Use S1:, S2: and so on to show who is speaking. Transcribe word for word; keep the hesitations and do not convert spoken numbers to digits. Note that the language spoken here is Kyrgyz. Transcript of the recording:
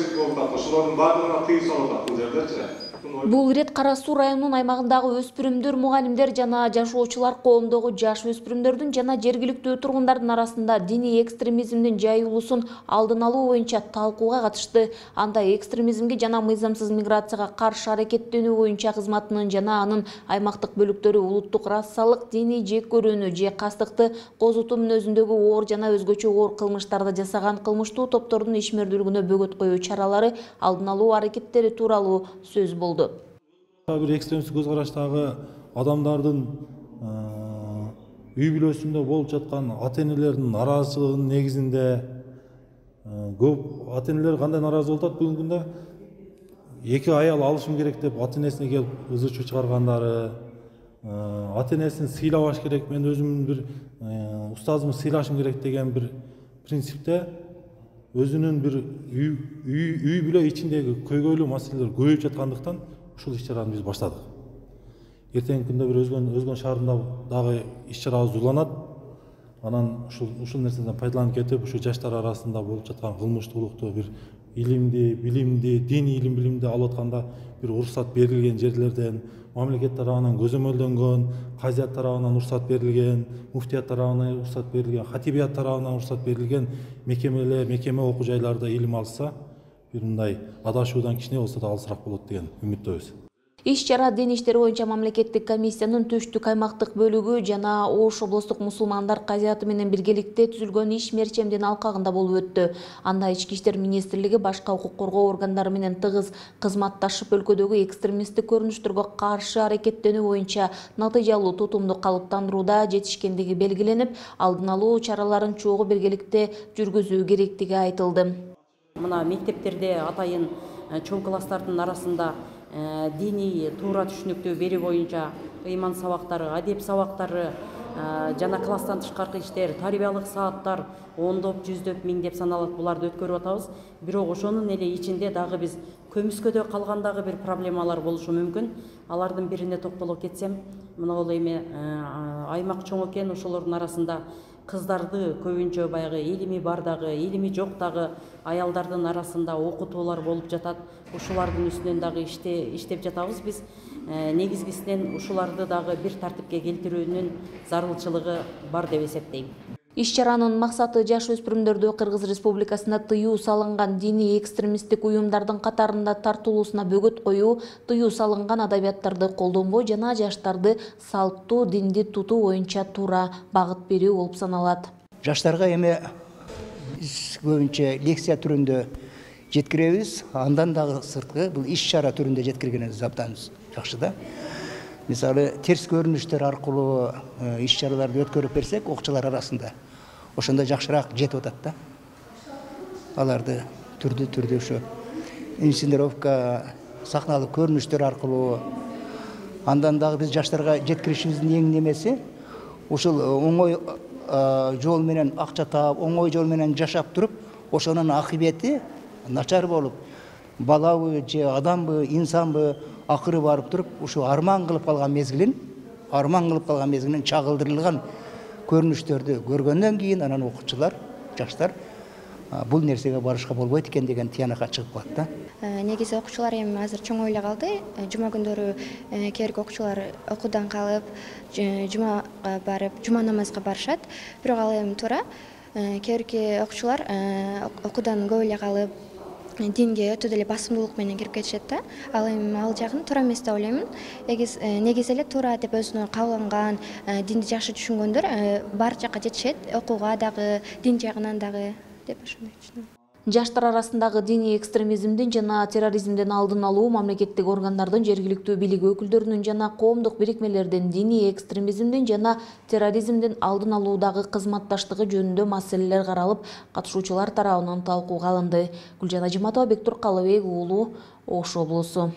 S1: Ошолордун баардыгына тыюу салып атат бул жердечи.
S2: Бул ирет Кара Суу районунун аймагындагы өспүрүмдөр, мугалимдер жана жашоочулар коомдогу жаш өспүрүмдөрдүн жана жергиликтүү тургундардын арасында диний экстремизмдин жайылуусун алдын алуу боюнча талкууга катышты. Анда экстремизмге жана мыйзамсыз миграцияга каршы аракеттенүү боюнча кызматынын жана анын аймактык бөлүктөрү улуттук расалык, диний жек көрүүнү же кастыкты козутуу мүнөзүндөгү оор жана өзгөчө оор кылмыштарды жасаган кылмыштуу топтордун ишмердүүлүгүнө бөгөт коюу чаралары, алдын алуу аракеттери тууралуу сөз болду.
S3: Бир экстремисттик көз караштагы адамдардын үй бүлөсүндө болуп жаткан ата-энелердин нараазычылыгынын негизинде көп ата-энелер кандай наразы болуп атат бүгүнкү күндө? Эки аял алышым керек деп ата-энесине келип ызы чуу чыгаргандары, ата-энесин сыйлабаш керек, мен өзүмдүн бир устазымды сыйлашым керек деген бир принципте өзүнүн бир үй бүлө ичиндеги көйгөйлүү маселелер көбөйүп жаткандыктан ушул иш-чараны биз баштадык. Эртеңки күндө бир өзгөн өзгөн шаарында дагы иш-чарабыз уланат. Анан ушул ушул нерседен пайдаланып кетип, ушу жаштар арасында болуп жаткан кылмыштуулукту бир илимди, билимди, диний илим билимди алып атканда бир уруксат берилген жерлерден, мамлекет тарабынан көзөмөлдөнгөн, казият тарабынан уруксат берилген, муфтият тарабынан уруксат берилген, хатибият тарабынан уруксат берилген мекемелер, мекеме окуу жайларда илим алса, бир мындай адашуудан кичине болсо да алысыраак болот деген үмүттөбүз.
S2: Иш-чара дин иштери боюнча мамлекеттик комиссиянын Түштүк аймактык бөлүгү жана Ош облустук мусулмандар казияты менен биргеликте түзүлгөн иш мерчемдин алкагында болуп өттү. Анда Ички иштер министрлиги башка укук коргоо органдары менен тыгыз кызматташып өлкөдөгү экстремисттик көрүнүштөргө каршы аракеттенүү боюнча натыйжалуу тутумду калыптандырууда жетишкендиги белгиленип, алдын алуу чараларын чогуу биргеликте жүргүзүү керектиги айтылды.
S4: Мына мектептерде атайын чоң класстардын арасында диний туура түшүнүктүү берүү боюнча ыйман сабактары, адеп сабактары жана класстан тышкаркы иштер, тарбиялык сааттар ондоп, жүздөп, миңдеп саналат буларды өткөрүп атабыз. Бирок ошонун эле ичинде дагы биз көмүскөдө калгандагы бир проблемалар болушу мүмкүн. Алардын бирине токтоло кетсем, мына бул эми аймак чоң экен, ошолордун арасында кыздарды көбүнчө баягы илими бар дагы, илими жок дагы аялдардын арасында окутуулар болуп жатат. Ушулардын үстүнөн дагы иштеп жатабыз биз. Негизгисинен ушуларды дагы бир тартипке келтирүүнүн зарылчылыгы бар деп эсептейм.
S2: Иш-чаранын максаты жаш өспүрүмдөрдү Кыргыз Республикасында тыюу салынган диний экстремисттик уюмдардын катарында тартылуусуна бөгөт коюу, тыюу салынган адабияттарды колдонбоо жана жаштарды салттуу динди тутуу боюнча туура багыт берүү болуп саналат.
S5: Жаштарга эми көбүнчө лекция түрүндө жеткиребиз, андан дагы сырткы бул иш-чара түрүндө жеткиргенибиз абдан жакшы да. Мисалы, терс көрүнүштөр аркылуу иш-чараларды өткөрүп берсек, окуучулар арасында ошондо жакшыраак жетип атат да. Аларды түрдүү түрдүү ушу инсценировка, сахналык көрүнүштөр аркылуу андан дагы биз жаштарга жеткиришибиздин эң немеси ушул оңой жол менен акча таап, оңой жол менен жашап туруп, ошонун акыбети начар болуп, балабы же адамбы, инсанбы акыры барып туруп, ушу арман кылып калган мезгилин, арман кылып калган мезгилин чагылдырылган көрүнүштөрдү көргөндөн кийин анан окуучулар, жаштар бул нерсеге барышка болбойт экен деген тыянакка чыгып калат да.
S6: Негизи окуучулар эми азыр чоң ойлой калды. Жума күндөрү кээ бирки окуучулар окуудан калып, жумага барып, жума намазга барышат. Бирок ал эми туура. Кээ бирки окуучулар окуудан көп эле калып, динге өтө деле басымдуулук менен кирип кетишет да. Ал эми ал жагын туура эмес деп ойлоймун. Негизи эле туура деп өзүнө кабыл динди жакшы түшүнгөндөр бар жакка жетишет, окууга дагы, дин жагынан дагы деп ошондой түшүнөм.
S2: Жаштар арасындагы диний экстремизмдин жана терроризмдин алдын алуу мамлекеттик органдардын, жергиликтүү бийлик өкүлдөрүнүн жана коомдук бирикмелердин диний экстремизмдин жана терроризмдин алдын алуудагы кызматташтыгы жөнүндө маселелер каралып, катышуучулар тарабынан талкууга алынды. Гүлжан Ажиматова, Бектур Калыбек уулу, Ош облусу.